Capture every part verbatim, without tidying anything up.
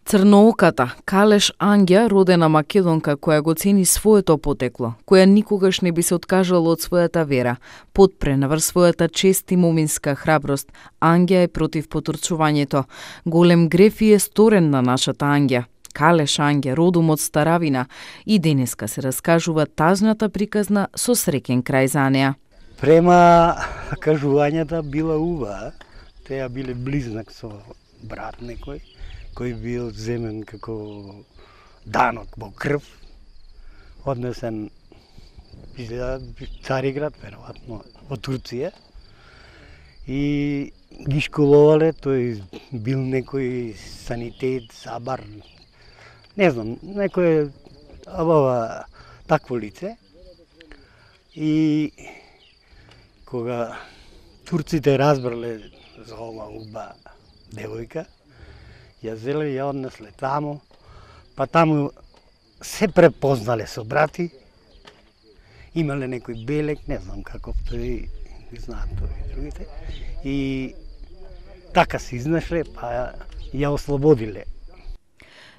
Црнооката Калеш Ангја, родена македонка која го цени своето потекло, која никогаш не би се откажала од својата вера, потпре наврз својата чест и моминска храброст, Ангја е против потурчувањето. Голем греф е сторен на нашата Ангја. Калеш Ангја, родом од Старавина, и денеска се раскажува тажната приказна со среќен крај за неа. Према кажувањата била убава, теа биле близнак со брат некој, кој бил земен како данок во крв, однесен изгледа Цариград, веројатно, во Турција. И ги школувале, тој бил некој санитет, сабар, не знам, некој абава такво лице. И кога турците разбрале за ова уба девојка, ја зеле, ја однесле таму, па таму се препознале со брати, имале некој белек, не знам каков тој, знаат тој и другите, и така се изнашле, па ја ослободиле.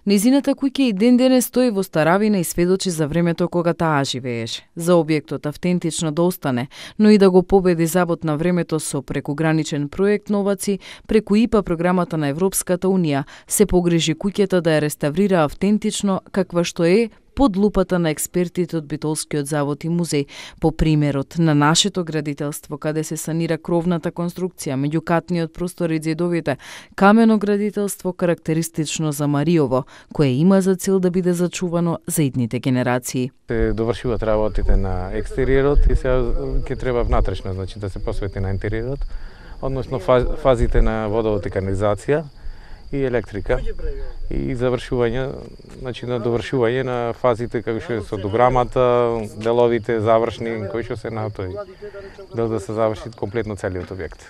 Незината куќа и ден денес стои во Старавина и сведочи за времето кога таа живееше. За објектот автентично да остане, но и да го победи завод на времето со прекуграничен проект Новаци, преку ИПА програмата на Европската Унија, се погрижи куќата да ја реставрира автентично каква што е, под лупата на експертите од Битолскиот завод и музеј, по примерот на нашето градителство, каде се санира кровната конструкција, меѓукатниот простор и ѕидовите, камено градителство карактеристично за Мариово, кое има за цел да биде зачувано за идните генерации. Се довршуваат работите на екстериерот и сега ќе треба внатрешно, значи да се посвети на интериерот, односно фазите на водовод и канализација и електрика и завршување, значи на довршување на фазите како што е со дограмата, деловите завршни кои што се на тој дел да се заврши комплетно целиот објект.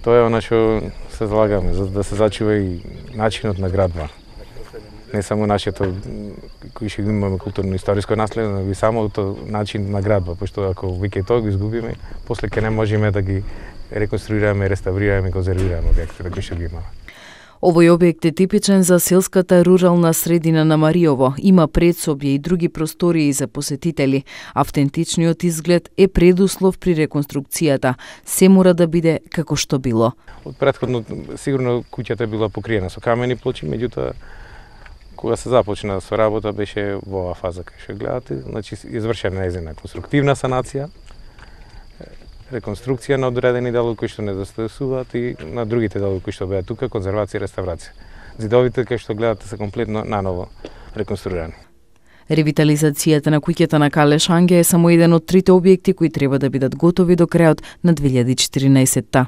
Тоа е она што се залагаме за да се зачува и начинот на градба. Не само нашето кои што имаме културно историско наследство, но и самото начин на градба, пошто ако веќе тоа го изгубиме, после ќе не можеме да ги реконструираме, реставрираме и конзервираме објектите кои што ги имаме. Овој објект е типичен за селската рурална средина на Мариово. Има предсобје и други простории за посетители. Автентичниот изглед е предуслов при реконструкцијата. Се мора да биде како што било. Од претходно сигурно куќата била покриена со камени плочи, меѓутоа кога се започна со работа беше во оваа фаза кај што гледате, значи извршена незина конструктивна санација, реконструкција на одредени делови кои што недостасуваат и на другите делови кои што беа тука, конзервација и реставрација. Зидовите кои што гледате се комплетно наново реконструирани. Ревитализацијата на куќата на Калеш Ангја е само еден од трите објекти кои треба да бидат готови до крајот на две илјади и четиринаесетта.